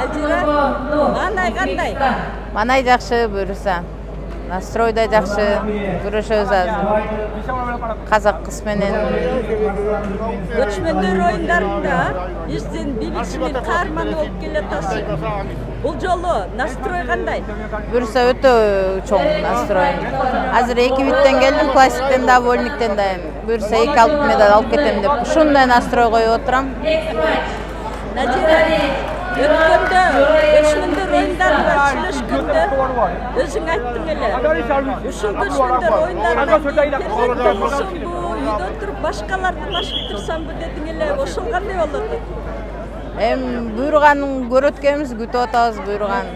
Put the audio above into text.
Назира, Манай кандай? Манай жакшы, буюрса. Настрой да жакшы, күрөшөбүз азыр. Казак кыз менен. Көчмөндөр оюндарында биздин BBC каарманы болуп келатасыз. Бул жолу настрой кандай? Буюрса өтө чоң настрой. Азыр 2 биттен келдим, классиктен да, вольниктен да. Буюрса 2 алтын медаль алып кетем деп ушундай настрой коюп отурам. Назира, өткөндө көчмөндөр оюндарында сүйлөшкөндө өзүң айттың эле. Ушул көчмөндөр оюндарында үйдө туруп башкаларды машыктырсамбы дедиң эле. Ошол кандай болот? Буйруганын көрөткөнбүз, күтүп атабыз буйруган.